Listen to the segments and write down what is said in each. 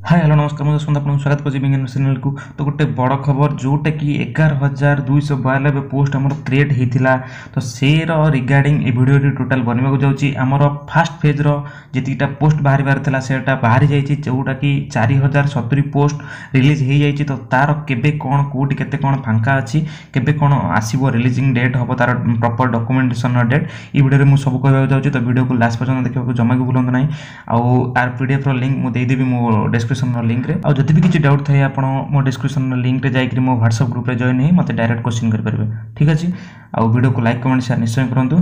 ହାଏ, hello, ନମସ୍କାର। ମୁଁ ଯଶବନ୍ତ, ଆପଣଙ୍କୁ ସ୍ୱାଗତ କରୁଛି ବିଜ୍ଞାନ ଚ୍ୟାନେଲକୁ। ତ ଗୋଟେ ବଡ଼ ଖବର, ଯେଉଁଟାକି 11,292 ପୋଷ୍ଟ ଆମର କ୍ରିଏଟ୍ ହେଇଥିଲା, ତ ସେର ରିଗାର୍ଡ଼ିଂ ଏ ଭିଡ଼ିଓଟି ଟୋଟାଲ୍ ବନିବାକୁ ଯାଉଛି। ଆମର ଫାଷ୍ଟ ଫେଜ୍ର ଯେତିକିଟା ପୋଷ୍ଟ ବାହାରିବାର ଥିଲା, ସେଟା ବାହାରି ଯାଇଛି, ଯେଉଁଟାକି 4070 ପୋଷ୍ଟ ରିଲିଜ୍ ହେଇଯାଇଛି। ତ ତାର କେବେ କ'ଣ, କେଉଁଠି କେତେ କ'ଣ ଫାଙ୍କା ଅଛି, କେବେ କ'ଣ ଆସିବ, ରିଲିଜିଂ ଡେଟ୍ ହେବ, ତାର ପ୍ରପର୍ ଡକୁମେଣ୍ଟେସନ୍ର ଡେଟ୍, ଏଇ ଭିଡ଼ିଓରେ ମୁଁ ସବୁ କହିବାକୁ ଯାଉଛି। ତ ଭିଡ଼ିଓକୁ ଲାଷ୍ଟ ପର୍ଯ୍ୟନ୍ତ ଦେଖିବାକୁ ଜମା ବି ଭୁଲନ୍ତୁ ନାହିଁ। ଆଉ ଆର ପିଡ଼ିଏଫ୍ର ଲିଙ୍କ୍ ମୁଁ ଦେଇଦେବି ମୋ ଡେସ୍କ୍ରିପସନ୍ର ଲିଙ୍କ୍ରେ। ଆଉ ଯଦି ବି କିଛି ଡାଉଟ୍ ଥାଏ, ଆପଣ ମୋ ଡେସ୍କ୍ରିପସନ୍ର ଲିଙ୍କ୍ରେ ଯାଇକରି ମୋ ହ୍ୱାଟ୍ସଆପ୍ ଗ୍ରୁପ୍ରେ ଜଏନ୍ ହେଇ ମୋତେ ଡାଇରେକ୍ଟ କୋଶ୍ଚିନ୍ କରିପାରିବେ। ଠିକ୍ ଅଛି? ଆଉ ଭିଡ଼ିଓକୁ ଲାଇକ୍, କମେଣ୍ଟ, ସେୟାର ନିଶ୍ଚୟ କରନ୍ତୁ।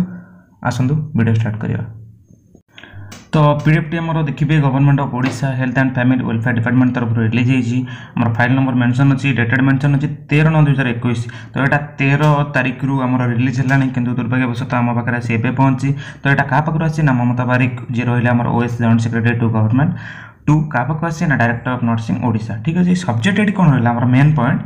ଆସନ୍ତୁ, ଭିଡ଼ିଓ ଷ୍ଟାର୍ଟ କରିବା। ତ ପିଡ଼ିଏଫ୍ଟି ଆମର ଦେଖିବେ, Government of Odisha, Health and Family Welfare Department ତରଫରୁ ରିଲିଜ୍ ହେଇଛି। ଆମର ଫାଇଲ୍ ନମ୍ବର ମେନସନ୍ ଅଛି, ଡେଟେଡ୍ ମେନସନ୍ ଅଛି 13/9/2021। ତ ଏଇଟା 13 ତାରିଖରୁ ଆମର ରିଲିଜ୍ ହେଲାଣି, କିନ୍ତୁ ଦୁର୍ଭାଗ୍ୟବଶତଃ ଆମ ପାଖରେ ଆସି ଏବେ ପହଞ୍ଚି। ତ ଏଇଟା କାହା ପାଖରୁ ଆସିଛି ନା ମମତା ବାରିକ, ଯିଏ ରହିଲେ ଆମର OS, Joint Secretary to Government, to କାହା ପାଖକୁ ଆସିଛି ନା ଡାଇରେକ୍ଟର ଅଫ୍ ନର୍ସିଂ ଓଡ଼ିଶା। ଠିକ୍ ଅଛି? ସବଜେକ୍ଟ ଏଠି କ'ଣ ରହିଲା ଆମର main point?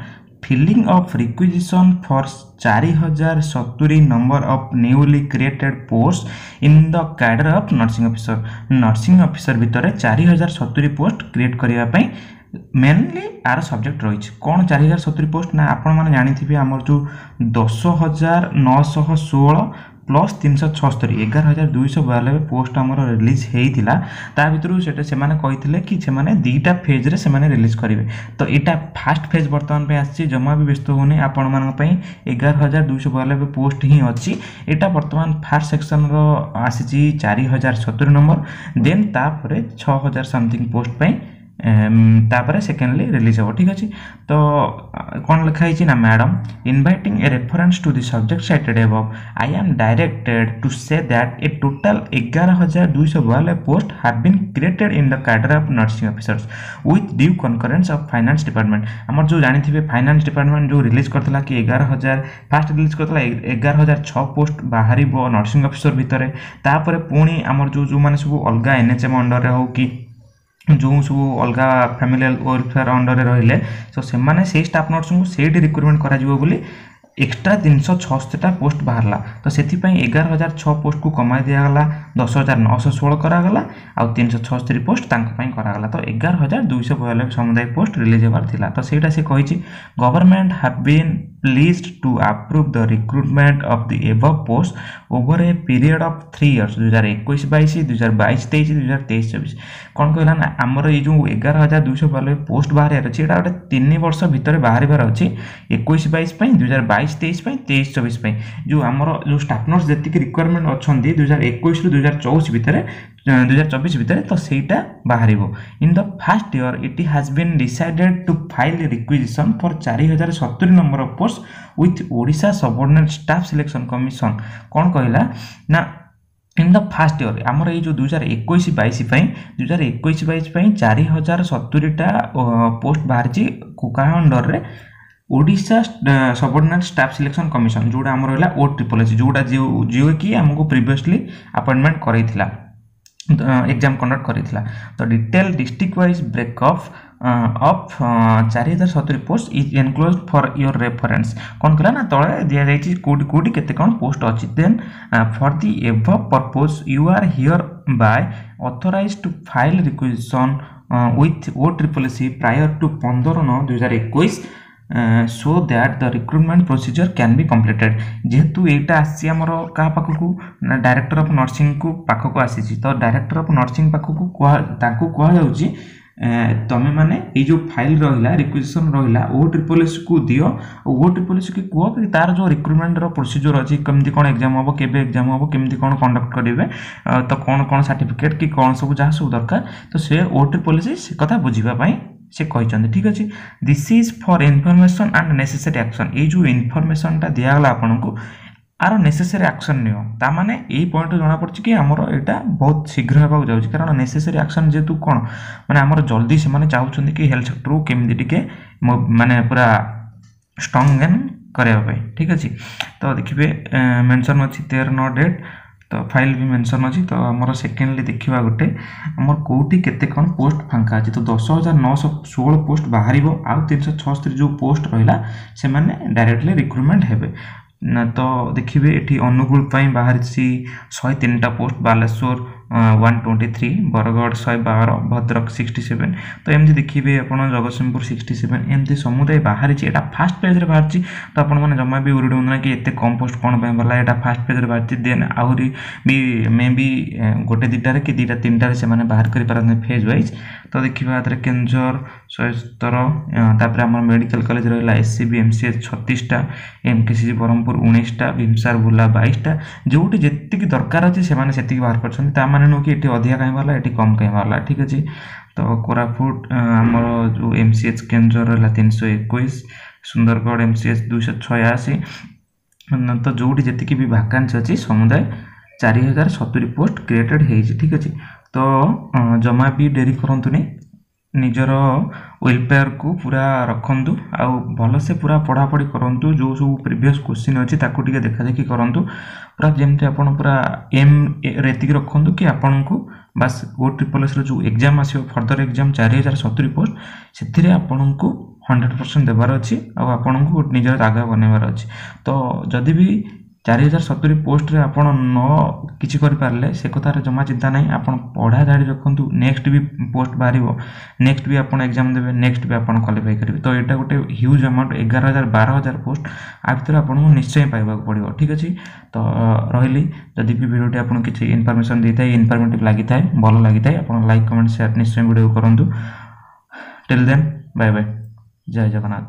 Filling of requisition for 4070 number of newly created posts in the cadre of nursing officer. Nursing officer ଭିତରେ 4070 ପୋଷ୍ଟ କ୍ରିଏଟ୍ କରିବା ପାଇଁ ମେନଲି ଆର ସବଜେକ୍ଟ ରହିଛି। କ'ଣ 4070 ପୋଷ୍ଟ ନା ଆପଣମାନେ ଜାଣିଥିବେ, ଆମର ଯେଉଁ 10,916 ପ୍ଲସ୍ 376, 11,292 ପୋଷ୍ଟ ଆମର ରିଲିଜ୍ ହେଇଥିଲା, ତା ଭିତରୁ ସେଟା ସେମାନେ କହିଥିଲେ କି ସେମାନେ ଦୁଇଟା ଫେଜ୍ରେ ସେମାନେ ରିଲିଜ୍ କରିବେ। ତ ଏଇଟା ଫାଷ୍ଟ ଫେଜ୍ ବର୍ତ୍ତମାନ ପାଇଁ ଆସିଛି। ଜମା ବି ବ୍ୟସ୍ତ ହେଉନି, ଆପଣମାନଙ୍କ ପାଇଁ 11,292 ପୋଷ୍ଟ ହିଁ ଅଛି। ଏଇଟା ବର୍ତ୍ତମାନ ଫାଷ୍ଟ ସେକ୍ସନ୍ର ଆସିଛି 4070 ନମ୍ବର। ଦେନ୍ ତାପରେ 6000 ସମଥିଙ୍ଗ ପୋଷ୍ଟ ପାଇଁ ତାପରେ ସେକେଣ୍ଡଲି ରିଲିଜ୍ ହେବ। ଠିକ୍ ଅଛି? ତ କ'ଣ ଲେଖା ହେଇଛି ନା, "Madam, inviting a reference to the subject cited above, I am directed to say that a total 11,292 post have been created in the cadre of nursing officers with due concurrence of Finance Department." ଆମର ଯେଉଁ ଜାଣିଥିବେ, finance department ଯେଉଁ release କରିଥିଲା କି 11,000, first release କରିଥିଲା 11,006 post ବାହାରିବ nursing officer ଭିତରେ। ତାପରେ ପୁଣି ଆମର ଯେଉଁ ଯେଉଁମାନେ ସବୁ ଅଲଗା ଏନ୍ଏଚ୍ଏମ୍ ଅଣ୍ଡରରେ ହେଉ କି ଯେଉଁ ସବୁ ଅଲଗା ଫ୍ୟାମିଲି ୱେଲଫେୟାର ଅଣ୍ଡରରେ ରହିଲେ, ତ ସେମାନେ ସେଇ ଷ୍ଟାଫ୍ ନର୍ସଙ୍କୁ ସେଇଠି ରିକ୍ରୁଟମେଣ୍ଟ କରାଯିବ ବୋଲି ଏକ୍ସଟ୍ରା 376ଟା ପୋଷ୍ଟ ବାହାରିଲା। ତ ସେଥିପାଇଁ 11,006 ପୋଷ୍ଟକୁ କମାଇ ଦିଆଗଲା, 10,916 କରାଗଲା ଆଉ 376 ପୋଷ୍ଟ ତାଙ୍କ ପାଇଁ କରାଗଲା। ତ 11,292 ସମୁଦାୟ ପୋଷ୍ଟ ରିଲିଜ୍ ହେବାର ଥିଲା। ତ ସେଇଟା ସେ କହିଛି, "Government have been pleased to approve the recruitment of the above post over a period of 3 years, 2021-22, 2022-23, 2023-24." କ'ଣ କହିଲା ନା ଆମର ଏଇ ଯେଉଁ 11,292 ପୋଷ୍ଟ ବାହାରିବାର ଅଛି, ଏଇଟା ଗୋଟେ 3 ବର୍ଷ ଭିତରେ ବାହାରିବାର ଅଛି, 21-22 ପାଇଁ, 2022-23 ପାଇଁ, 23-24 ପାଇଁ। ଯେଉଁ ଆମର ଯେଉଁ ଷ୍ଟାଫ୍ ନର୍ସ ଯେତିକି ରିକ୍ୱାରମେଣ୍ଟ ଅଛନ୍ତି 2021ରୁ 2024 ଭିତରେ, 2024 ଭିତରେ, ତ ସେଇଟା ବାହାରିବ। "In the first year, it has been decided to file requisition for 4070 number of post with Odisha Subordinate Staff Selection Commission." କ'ଣ କହିଲା ନା ଇନ୍ the first year, ଆମର ଏଇ ଯେଉଁ 2021-22 ପାଇଁ, 2021-22 ପାଇଁ 4070ଟା ପୋଷ୍ଟ ବାହାରିଛି। କାହା ଅଣ୍ଡରରେ? ଓଡ଼ିଶା ସବଅର୍ଡ଼ିନେଟ୍ ଷ୍ଟାଫ୍ ସିଲେକ୍ସନ୍ କମିଶନ, ଯେଉଁଟା ଆମର ରହିଲା ଓ ଟ୍ରିପଲ୍ ଏସ୍, ଯେଉଁଟା ଯିଏକି ଆମକୁ ପ୍ରିଭିୟସଲି ଆପଏଣ୍ଟମେଣ୍ଟ କରେଇଥିଲା, ଏକ୍ଜାମ୍ କଣ୍ଡକ୍ଟ କରିଥିଲା। ତ "Detail district wise breakup of 4070 post is enclosed for your reference." କ'ଣ କଲା ନା ତଳେ ଦିଆଯାଇଛି କେଉଁଠି କେଉଁଠି କେତେ କ'ଣ ପୋଷ୍ଟ ଅଛି। Then "For the above purpose, you are hereby authorized to file requisition with O triple C prior to 15/9/2021 so that the recruitment procedure can be completed." ଯେହେତୁ ଏଇଟା ଆସିଛି ଆମର କାହା ପାଖକୁ ନା ଡାଇରେକ୍ଟର ଅଫ୍ ନର୍ସିଂକୁ ପାଖକୁ ଆସିଛି। ତ ଡାଇରେକ୍ଟର ଅଫ୍ ନର୍ସିଂ ପାଖକୁ କୁହା ତାଙ୍କୁ କୁହାଯାଉଛି, ତମେମାନେ ଏଇ ଯେଉଁ ଫାଇଲ୍ ରହିଲା, ରିକ୍ୱିଜିସନ୍ ରହିଲା, ଓ ଟ୍ରିପଲ୍ ଏସ୍କୁ ଦିଅ ଆଉ ଓ ଟ୍ରିପଲ୍ ଏସ୍କୁ କୁହ କି ତାର ଯେଉଁ ରିକ୍ରୁଟମେଣ୍ଟର ପ୍ରୋସିଜର୍ ଅଛି, କେମିତି କ'ଣ ଏକ୍ଜାମ୍ ହେବ, କେବେ ଏକ୍ଜାମ୍ ହେବ, କେମିତି କ'ଣ କଣ୍ଡକ୍ଟ କରିବେ, ତ କ'ଣ କ'ଣ ସାର୍ଟିଫିକେଟ୍ କି କ'ଣ ସବୁ ଯାହା ସବୁ ଦରକାର, ତ ସେ ଓ ଟ୍ରିପଲ୍ ଏସ୍ ସେ କଥା ବୁଝିବା ପାଇଁ ସେ କହିଛନ୍ତି। ଠିକ୍ ଅଛି? "This is for information and necessary action." ଏଇ ଯେଉଁ ଇନଫର୍ମେସନ୍ଟା ଦିଆଗଲା ଆପଣଙ୍କୁ, ଆର ନେସେସରୀ ଆକ୍ସନ୍ ନିଅ। ତାମାନେ ଏଇ ପଏଣ୍ଟରୁ ଜଣାପଡ଼ୁଛି କି ଆମର ଏଇଟା ବହୁତ ଶୀଘ୍ର ହେବାକୁ ଯାଉଛି। କାରଣ ନେସେସରୀ ଆକ୍ସନ୍ ଯେହେତୁ କ'ଣ ମାନେ ଆମର ଜଲ୍ଦି ସେମାନେ ଚାହୁଁଛନ୍ତି କି ହେଲ୍ଥ ସେକ୍ଟରକୁ କେମିତି ଟିକେ ମାନେ ପୁରା ଷ୍ଟ୍ରଙ୍ଗ ଗେନ୍ କରିବା ପାଇଁ। ଠିକ୍ ଅଛି? ତ ଦେଖିବେ, ମେନସନ୍ ଅଛି 13/9 ଡେଟ୍, ତ ଫାଇଲ୍ ବି ମେନସନ୍ ଅଛି। ତ ଆମର ସେକେଣ୍ଡଲି ଦେଖିବା ଗୋଟେ ଆମର କେଉଁଠି କେତେ କ'ଣ ପୋଷ୍ଟ ଫାଙ୍କା ଅଛି। ତ 10,916 ପୋଷ୍ଟ ବାହାରିବ ଆଉ 376 ଯେଉଁ ପୋଷ୍ଟ ରହିଲା, ସେମାନେ ଡାଇରେକ୍ଟଲି ରିକ୍ରୁଟମେଣ୍ଟ ହେବେ ନା। ତ ଦେଖିବେ, ଏଠି ଅନୁଗୁଳ ପାଇଁ ବାହାରିଛି 103ଟା ପୋଷ୍ଟ, ବାଲେଶ୍ୱର, 123, Bargarh 112, Bhadrak 67। ତ ଏମିତି ଦେଖିବେ ଆପଣ ଜଗତସିଂହପୁର 67, ଏମିତି ସମୁଦାୟ ବାହାରିଛି। ଏଇଟା ଫାଷ୍ଟ ପେଜ୍ରେ ବାହାରିଛି, ତ ଆପଣମାନେ ଜମା ବି ୱରିଡ୍ ହୁଅନ୍ତୁ ନା କି ଏତେ କମ୍ ପୋଷ୍ଟ କ'ଣ ପାଇଁ ବାହାରିଲା। ଏଇଟା ଫାଷ୍ଟ ପେଜ୍ରେ ବାହାରିଛି। ଦେନ୍ ଆହୁରି ବି ମେ ବି ଗୋଟେ ଦୁଇଟାରେ କି ଦୁଇଟା ତିନିଟାରେ ସେମାନେ ବାହାର କରିପାରନ୍ତି ଫେଜ୍ ୱାଇଜ୍। ତ ଦେଖିବା ଏଥିରେ କେନ୍ଦୁଝର 117। ତାପରେ ଆମର ମେଡ଼ିକାଲ କଲେଜ ରହିଲା S C B, M C H 36ଟା, M K C G Brahmapur 19ଟା, ଭିମସାର ବୁର୍ଲା 22ଟା। ଯେଉଁଠି ଯେତିକି ଦରକାର ଅଛି ସେମାନେ ସେତିକି ବାହାର କରିଛନ୍ତି। ତା ମାନେ ନୁହଁ କି ଏଠି ଅଧିକା କାହିଁ ବାହାରିଲା, ଏଠି କମ୍ କାହିଁ ବାହାରିଲା, ଠିକ୍ ଅଛି। ତ କୋରାପୁଟ ଆମର ଯେଉଁ ଏମ୍ ସି ଏଚ୍ କେନ୍ଦୁଝର ରହିଲା 321, ସୁନ୍ଦରଗଡ଼ ଏମ୍ ସି ଏଚ୍ 286। ତ ଯେଉଁଠି ଯେତିକି ବି ଭାକାନ୍ସି ଅଛି ସମୁଦାୟ 4070 ପୋଷ୍ଟ କ୍ରିଏଟେଡ଼ ହେଇଛି, ଠିକ୍ ଅଛି। ତ ଜମା ବି ଡେରି କରନ୍ତୁନି, ନିଜର ୱେଲଫେୟାରକୁ ପୁରା ରଖନ୍ତୁ ଆଉ ଭଲସେ ପୁରା ପଢ଼ାପଢ଼ି କରନ୍ତୁ। ଯେଉଁ ସବୁ ପ୍ରିଭିୟସ୍ କୋଶ୍ଚିନ୍ ଅଛି ତାକୁ ଟିକେ ଦେଖାଦେଖି କରନ୍ତୁ, ପୁରା ଯେମିତି ଆପଣ ପୁରା ଏମ୍ ଏତିକି ରଖନ୍ତୁ କି ଆପଣଙ୍କୁ ବାସ୍ ଓ ଟ୍ରିପଲ୍ ଏସ୍ର ଯେଉଁ ଏକ୍ଜାମ୍ ଆସିବ, ଫର୍ଦର ଏକ୍ଜାମ୍ 4070 ପୋଷ୍ଟ, ସେଥିରେ ଆପଣଙ୍କୁ 100% ଦେବାର ଅଛି ଆଉ ଆପଣଙ୍କୁ ନିଜର ଜାଗା ବନେଇବାର ଅଛି। ତ ଯଦି ବି 4070 ପୋଷ୍ଟରେ ଆପଣ ନ କିଛି କରିପାରିଲେ ସେ କଥାରେ ଜମା ଚିନ୍ତା ନାହିଁ, ଆପଣ ପଢ଼ା ଜାରି ରଖନ୍ତୁ। ନେକ୍ସଟ ବି ପୋଷ୍ଟ ବାହାରିବ, ନେକ୍ସଟ ବି ଆପଣ ଏକ୍ଜାମ୍ ଦେବେ, ନେକ୍ସଟ ବି ଆପଣ କ୍ୱାଲିଫାଇ କରିବେ। ତ ଏଇଟା ଗୋଟେ ହ୍ୟୁଜ୍ ଆମାଉଣ୍ଟ, 11,000 12,000 ପୋଷ୍ଟ ଆ ଭିତରେ ଆପଣଙ୍କୁ ନିଶ୍ଚୟ ପାଇବାକୁ ପଡ଼ିବ, ଠିକ୍ ଅଛି। ତ ରହିଲି, ଯଦି ବି ଭିଡ଼ିଓଟି ଆପଣଙ୍କୁ କିଛି ଇନଫର୍ମେସନ୍ ଦେଇଥାଏ, ଇନଫର୍ମେଟିଭ୍ ଲାଗିଥାଏ, ଭଲ ଲାଗିଥାଏ, ଆପଣ ଲାଇକ୍ କମେଣ୍ଟ ସେୟାର ନିଶ୍ଚୟ ଭିଡ଼ିଓ କରନ୍ତୁ। ଟିଲ୍ ଦେନ୍ ବାଏ ବାଏ, ଜୟ ଜଗନ୍ନାଥ।